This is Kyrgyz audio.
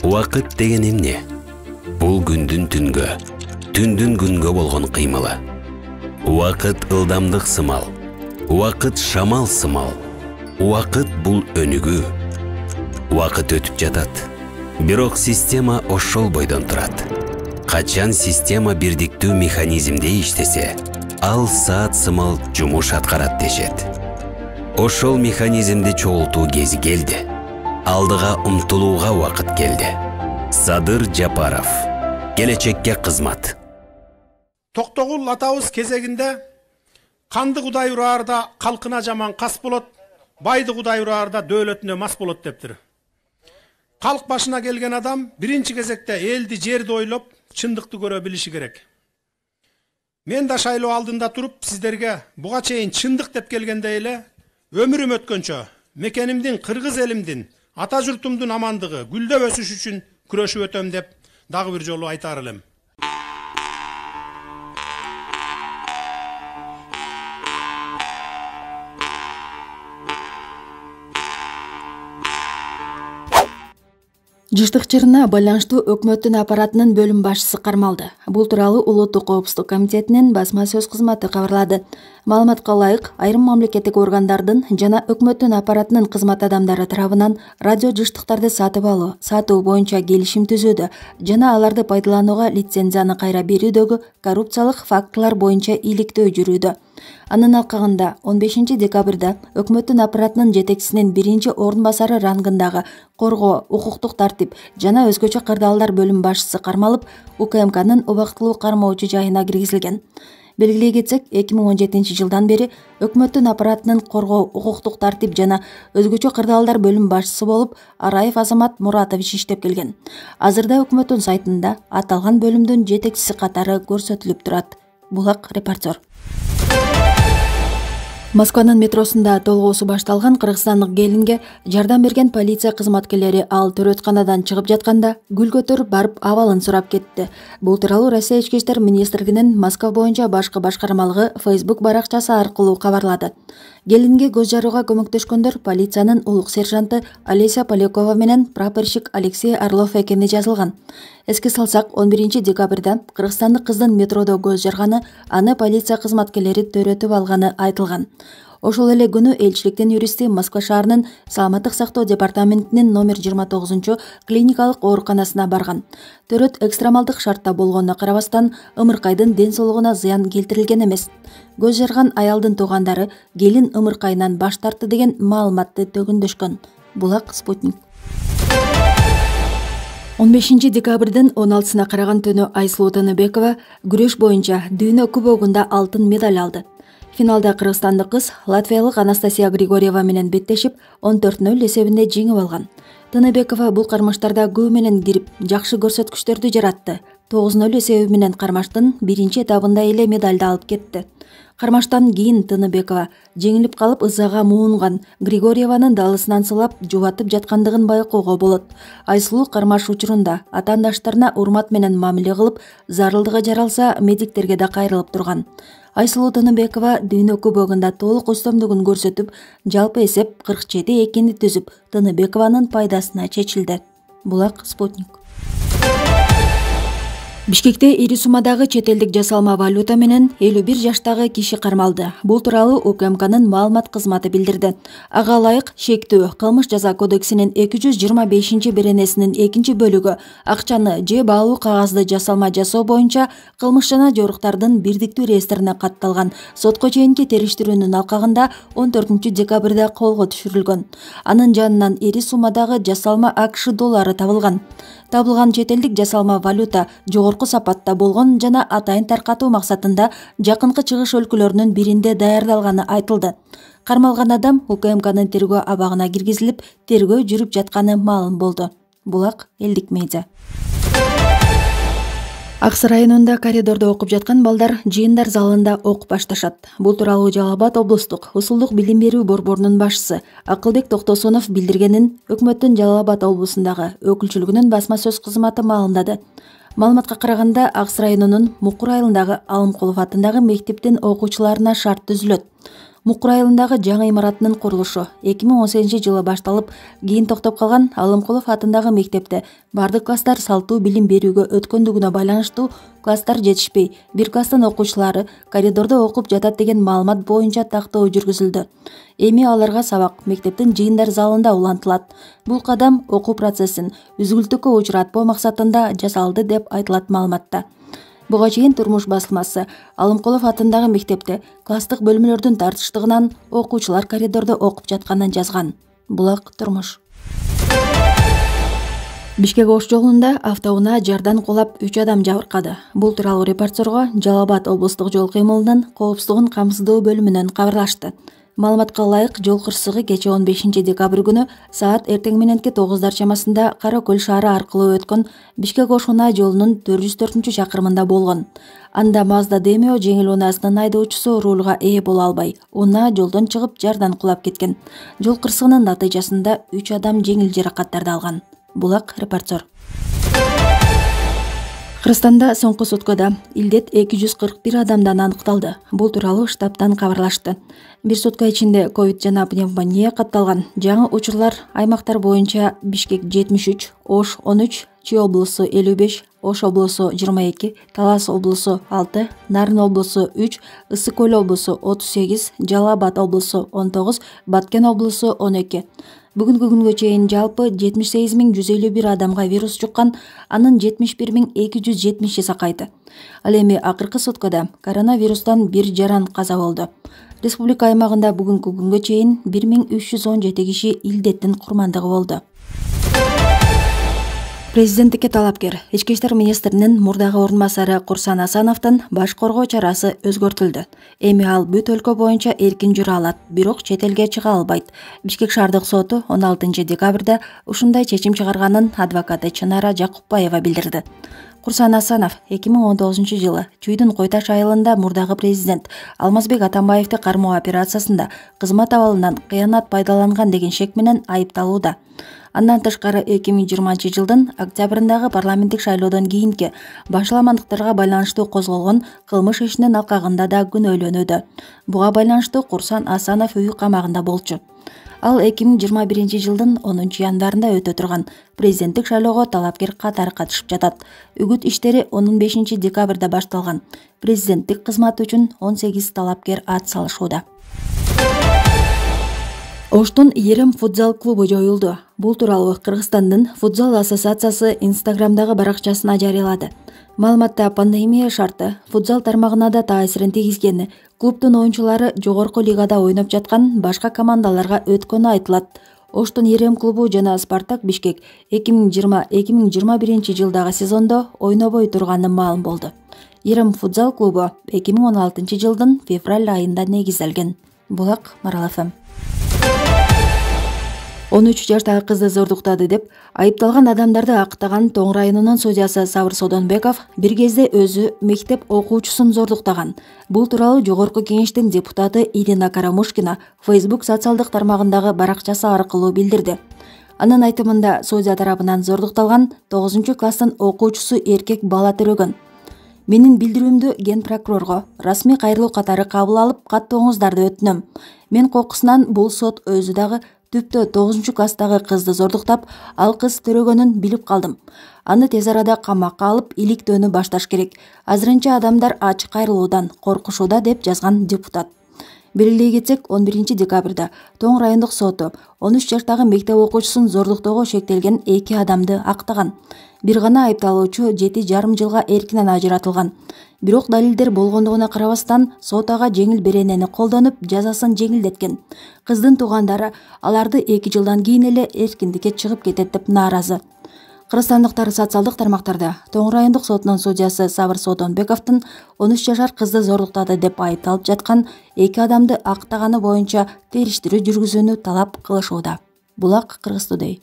Убакыт деген эмне? Бул күндүн түнгө, түндүн күнгө болгон кыймылы. Убакыт ылдамдык сымал, убакыт шамал сымал. Убакыт бул өнүгүү. Убакыт өтүп жатат. Бирок система ошол бойдон турат. Качан система бирдиктүү механизмде иштесе, ал саат сымал жумуш аткарат дешет. Ошол механизмди чогултуу кези келди. Алдыга умтулууга убакыт келди. Садыр Жапаров. Келечекке кызмат. Токтогул атабыз кезегинде канды кудай ураарда калкына жаман кас болот, байды кудай ураарда дөөлөтүнө мас болот дептир. Калк башына келген адам биринчи кезекте элди, жерди ойлоп, чындыкты көрө билиши керек. Мен да шайлоо алдында туруп, сиздерге буга чейин чындык деп келгенде эле өмүрүм өткөнчө мекенимдин, кыргыз элимдин, ата журтумдун амандыгы, гүлдөп өсүш үчүн күрөшүп өтөм деп дагы бир жолу айтар элем. Жыштык чырына байланыштуу өкмөттүн аппаратынын бөлүм башчысы кармалды. Бул тууралуу Улуттук коопсуздук комитетинин басма сөз кызматы кабарлады. Маалыматка ылайык, айрым мамлекеттик органдардын жана өкмөттүн аппаратынын кызмат адамдары тарабынан радио жыштыктарды сатуу боюнча келишим түзүүдө жана аларды пайдаланууга лицензияны кайра берүүдөгү коррупциялык фактылар боюнча иликтөө жүрүүдө. Анын алкагында 15 декабрда өкмөттүн аппаратынын жетекчисинин биринчи орун басары рангындагы коргоо, укуктук тартип жана өзгөчө кырдаалдар бөлүм башчысы кармалып, УКМКнын убактылуу кармоочу жайына киргизилген. Белгилей кетсек, 2017 жылдан бери өкмөттүн аппаратынын коргоо, укуктук тартип жана өзгөчө кырдаалдар бөлүм башчысы болуп Араев Азамат Муратович иштеп келген. Азырда өкмөттүн сайтында аталган бөлүмдүн жетекчиси катары көрсөтүлүп турат. Булак репортер. Москванын метросунда толгоосу башталган кыргызстандык келинге жардам берген полиция кызматкерлери ал төрөтканадан чыгып жатканда гүл көтөрүп барып абалын сурап кетти. Бул тууралуу Россия ички иштер министрлигинин Москва боюнча башкы башкармалыгы Facebook баракчасы аркылуу кабарлады. Келинге көз жарууга көмөктөшкөндөр полициянын улук сержанты Олеся Полякова менен прапорщик Алексей Орлов экени жазылган. Эске салсак, 11 декабрда кыргызстандык кыздын метродо көз жарганы, аны полиция кызматкерлери төрөтүп алганы айтылган. Ошол эле күнү элчиликтин юристи Москва шаарынын саламаттык сактоо департаментинин номер 29 клиникалык ооруканасына барган. Төрөт экстремалдык шартта болгонуна карабастан, ымыркайдын ден соолугуна зыян келтирилген эмес. Көз жарган аялдын туугандары келин ымыркайынан баш тартты деген маалыматты төгүндөшкөн. Булак Спутник. 15 декабрдын 16-сына караган түнү Айсулуу Тыныбекова күрөш боюнча дүйнө кубогунда алтын медаль алды. Финалда кыргызстандык кыз латвиялык Анастасия Григорьева менен беттешип 14-0 эсебинде жеңип алган. Тыныбекова бул кармаштарда көбү менен кирип, жакшы көрсөткүчтөрдү жаратты. 9-0 эсеби менен кармаштын биринчи этабында эле медальды алып кетти. Кармаштан кийин Тыныбекова жеңилип калып ызага муунган, Григорьеванын далысынан сылап жубатып жаткандыгын байкоого болот. Айсулуу кармаш учурунда атаандаштарына урмат менен мамиле кылып, зарылдыгы жаралса медиктерге да кайрылып турган. Айсулуу Тыныбекова дүйнө кубогунда толук үстөмдүгүн көрсөтүп, жалпы эсеп 47-2 түзүп, Тыныбекованын пайдасына чечилди. Булак Спутник. Бишкекте ири суммадагы чет элдик жасалма валюта менен 51 жаштагы киши кармалды. Бул тууралуу УКМКнын маалымат кызматы билдирди. Ага ылайык шектүү кылмыш жаза кодексинин 225 беренесинин 2 бөлүгү акчаны же баалуу кагазды жасалма жасоо боюнча кылмыш жана жоруктардын бирдиктүү реестрине катталган сотко чейинки териштирүүнүн алкагында 14 декабрда колго түшүрүлгөн. Анын жанынан ири суммадагы жасалма АКШ доллары табылган. Табылган чет элдик жасалма валюта жогорку сапатта болгон жана атайын таркатуу максатында жакынкы чыгыш өлкөлөрүнүн биринде даярдалганы айтылды. Кармалган адам УКМКнын тергөө абагына киргизилип, тергөө жүрүп жатканы маалым болду. Булак элдик медиа. Аксы районунда коридордо окуп жаткан балдар жыйындар залында ок башташат. Бул тууралуу Жалал Абад облустук усулдук билим берүү борборунун башчысы Акылбек Токтосунов билдиргенин өкмөттүн Жалал Абад облусундагы өкүлчүлүгүнүн басма сөз кызматы маалымдады. Маалыматка караганда, Аксы районунун Мукур айылындагы Алымкулов атындагы мектептин окуучуларына шарт түзүлөт. Мукур айылындагы жаңы имаратынын курулушу 2018-жылы башталып, кийин токтоп калган Алымкулов атындагы мектепте бардык класстар салттуу билим берүүгө өткөндүгүнө байланыштуу класстар жетишпей, бир класстын окуучулары коридордо окуп жатат деген маалымат боюнча тактоо жүргүзүлдү. Эми аларга сабак мектептин жыйындар залында улантылат. Бул кадам окуу процессин үзгүлтүккө учуратпоо максатында жасалды деп айтылат маалыматта. Буга чейин Турмуш басылмасы Алымкулов атындагы мектепте класстык бөлмөлөрдүн тартыштыгынан окуучулар коридордо окуп жатканын жазган. Булак Турмуш. Бишкек Ош жолунда автоунаа жардан кулап 3 адам жабыркады. Бул тууралуу репортерго Жалал Абад облустук жол кыймылынын коопсуздугун камсыздоо бөлүмүнөн кабарлашты. Маалыматка ылайык, жол кырсыгы кечээ 15 декабрь күнү саат эртең мененки 9 чамасында Кара Көл шаары аркылуу өткөн Бишкек Ош унаа жолунун 404 чакырымында болгон. Анда Mazda Demio жеңил унаасынын айдоочусу рулга ээ боло албай, унаа жолдон чыгып жардан кулап кеткен. Жол кырсыгынын натыйжасында 3 адам жеңил жаракаттарды алган. Булак репортер. Кыргызстанда соңку суткада илдет 241 адамдан аныкталды. Бул тууралуу штабтан кабарлашты. Бир сутка ичинде ковид жана пневмония катталган жаңы учурлар аймактар боюнча Бишкек 73, Ош 13, Чүй облусу 55, Ош облусу 22, Талас облусу 6, Нарын облусу 3, Ысык Көл облусу 38, Жалал Абад облусу 19, Баткен облусу 12. Бүгүнкү күнгө чейин жалпы 78.151 адамга вирус жуккан, анын 71.270 сакайды. Ал эми акыркы суткада коронавирустан бир жаран каза болду. Республика аймагында бүгүнкү күнгө чейин 1317 киши илдеттин курмандыгы болду. Президенттикке талапкер Ички иштер министринин мурдагы орун басары Курсан Асановдун баш коргоо чарасы өзгөртүлдү. Эми ал бүт өлкө боюнча эркин жүрө алат, бирок чет элге чыга албайт. Бишкек шаардык соту 16 декабрда ушундай чечим чыгарганын адвокаты Чынара Жакупбаева билдирди. Курсан Асанов 2019-жылы Чүйдүн Койташ айылында мурдагы президент Алмазбек Атамбаевди кармоо операциясында кызмат абалынан кыянат пайдаланган деген шек менен айыпталууда. Андан тышкары 2020-жылдын октябрындагы парламенттик шайлоодон кийинки башаламандыктарга байланыштуу козголгон кылмыш ишинин алкагында да күнөөлөнүүдө. Буга байланыштуу Курсан Асанов үй камагында болчу. Ал 2021-жылдын 10 январында өтө турган президенттик шайлоого талапкер катары катышып жатат. Үгүт иштери 15 декабрда башталган. Президенттик кызмат үчүн 18 талапкер ат салышууда. Оштун Ерем футзал клубу жоюлду. Бул тууралуу Кыргызстандын футзал ассоциациясы Инстаграмдагы баракчасына жарыялады. Маалыматта пандемия шарты футзал тармагына да таасирин тийгизгени, клубдун оюнчулары жогорку лигада ойноп жаткан башка командаларга өткөнү айтылат. Оштун Ерем клубу жана Спартак Бишкек 2020-2021 жылдагы сезондо ойнобой турганы маалым болду. Ерем футзал клубу 2016 жылдын февраль айында негизделген. Булак Марал ФМ. 13 жаштагы кызды зордуктады деп айыпталган адамдарды актаган Тоң районунун судьясы Сабыр Содонбеков бир кезде өзү мектеп окуучусун зордуктаган. Бул тууралуу Жогорку кеңештин депутаты Ирина Карамушкина Facebook социалдык тармагындагы баракчасы аркылуу билдирди. Анын айтымында судья тарабынан зордукталган 9 класстын окуучусу эркек бала төрөгөн. Менин билдирүүмдү ген прокурорго расмий кайрылуу катары кабыл алып, каттооңуздарды өтүнөм. Мен кокусунан бул сот өзү дагы түптө 9 класстагы кызды зордуктап, ал кыз төрөгөнүн билип калдым. Аны тез арада камакка алып, иликтөөнү башташ керек. Азырынча адамдар ачык кайрылуудан коркушууда деп жазган депутат. Белгилей кетсек, 11 декабрда Тоң райондук соту 13 жаштагы мектеп окуучусун зордуктоого шектелген 2 адамды актаган. Бир гана айыпталуучу 7,5 жылга эркинен ажыратылган. Бирок далилдер болгондугуна карабастан сот ага жеңил беренени колдонуп, жазасын жеңилдеткен. Кыздын туугандары аларды 2 жылдан кийин эле эркиндикке чыгып кетет деп нааразы. Кыргызстандыктар социалдык тармактарда Тоң райондук сотунун судьясы Сабыр Содонбековдун 13 жашар кызды зордуктады деп айыпталып жаткан 2 адамды актаганы боюнча териштирүү жүргүзүүнү талап кылышууда. Булак Кыргыз Today.